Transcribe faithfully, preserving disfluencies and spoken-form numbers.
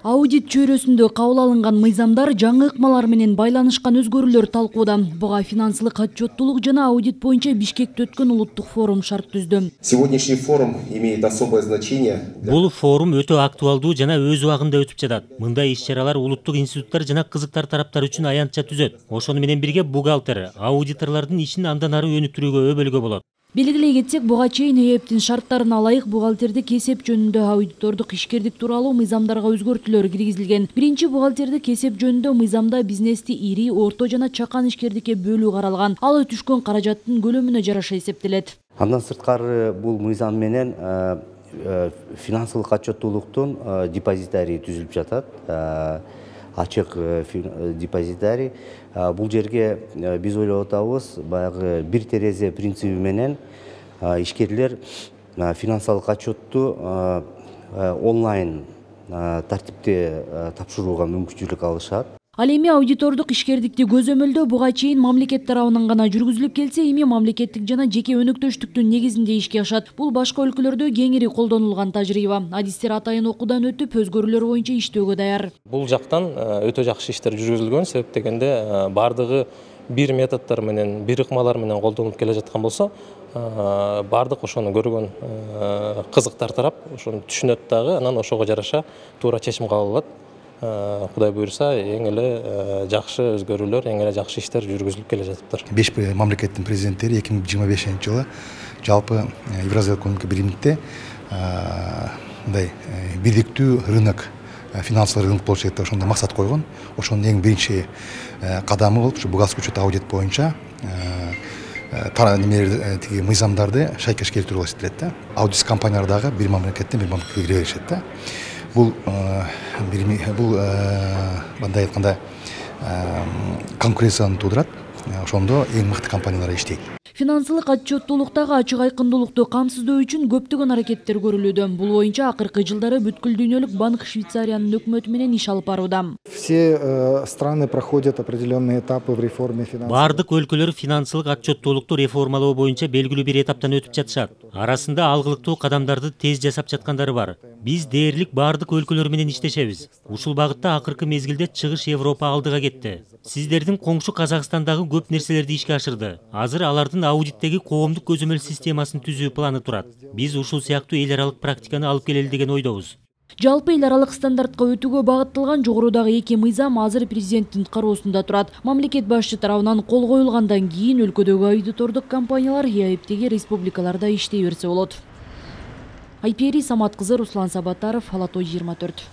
Аудит чөйрөсүндө кабыл алынган мыйзамдар жаңы ыкмалар менен байланышкан өзгөрүүлөр талкууда. Буга финансылык отчеттуулук жана аудит боюнча Бишкекте өткөн улуттук форум шарт түздү. Сегодняшний форум имеет особое значение. Бул форум өтө актуалдуу жана өз убагында өтүп жатат. Мындай иш-чаралар улуттук институттар жана кызыктар тараптар үчүн аянтча түзөт. Ошону менен бирге бухгалтер, аудиторлордун ишин андан ары өнүктүрүүгө өбөлгө болот. Белгилей кетсек, буга чейин ЭЭПтин шарттарына ылайык бухгалтердик эсеп жөнүндө аудитордук ишкердик тууралуу мыйзамдарга өзгөртүүлөр киргизилген. Биринчи бухгалтердик эсеп жөнүндө мыйзамда бизнести ири, орто жана чакан ишкердикке бөлүү каралган. Ал түшкөн каражаттын көлөмүнө жараша эсептелет. Андан сырткары бул мыйзам менен финансылык отчеттуулуктун депозитарий түзүлүп жатат. Ачык депозитарий. Бул жерге биз ойлоп атабыз, баягы бир терезе принциби менен ишкерлер финансылык отчетту онлайн тартипте тапшырууга мүмкүнчүлүк алышат. Ал эми аудитордук ишкердикти көзөмөлдөө буга чейин мамлекет тарабынан гана жүргүзүлүп келсе, эми мамлекеттик жана жеке өнөктөштүктүн негизинде ишке ашат. Бул башка өлкөлөрдө кеңири колдонулган тажрыйба. Адистер атайын окуудан өтүп, өзгөрүүлөр боюнча иштөөгө даяр. Бул жактан өтө жакшы иштер жүргүзүлгөн, себеп дегенде бардыгы бир методдор менен, бир ыкмалар менен колдонулуп келе жаткан болсо, бардык ошону көргөн кызыктар тарап ошону түшүнөт дагы, анан ошого жараша туура чечим кабыл алат. Кудай буйрса, эң эле жакшы өзгөрүүлөр, эң эле жакшы иштер жүргүзүлүп келе жатыптыр. Беш мамлекеттин президенттери эки миң жыйырма бешинчи жылы жалпы Евразиялык экономика биримдикте мындай бирдиктүү рынок, финансылык рынок болуш керек деп ошондой максат койгон. Ошонун эң биринчи кадамы болуп, ушу бухгалтерский учет аудит боюнча немелер тиги мыйзамдарды шайкеш келтирүү болуп эсептелет да. Аудит компаниялар дагы бир мамлекеттен бир мамлекетке кире беришет да. Бул бул мындай айтканда конкуренцияны туудурат. Ошондо эң мыкты компаниялар иштейт. Финансылык отчеттуулуктагы ачык айкындуулукту камсыздоо үчүн көптөгөн аракеттер көрүлүүдө. Бул боюнча акыркы жылдары бүткүл дүйнөлүк банк Швейцариянын өкмөтү менен иш алып барууда. Все страны проходят определенные этапы в реформе финансов. Бардык өлкөлөр финансылык отчеттуулукту реформалоо боюнча белгилүү бир этаптан өтүп жатышат. Арасында алгылыктуу кадамдарды тез жасап жаткандары бар. Биз дээрлик бардык өлкөлөр менен иштешебиз. Ушул багытта акыркы мезгилде чыгыш Европа алдыга кетти. Сиздердин коңшу Казакстандагы көп нерселерди ишке ашырды. Азыр алардын аудиттеги коомдук көзөмөл системасын түзүү планы турат. Биз ушул сыяктуу эл аралык практиканы алып келели деген ойдобуз. Жалпы эл аралык стандартка өтүүгө багытталган жогорудагы эки мыйзам азыр президенттин кароосунда турат. Мамлекет башчы тарабынан кол коюлгандан кийин өлкөдөгү аудитордук компаниялар ЭЭПтеги республикаларда иштей берсе болот. Айпери Самат кызы, Руслан Сабатаров, Ала той жыйырма төрт.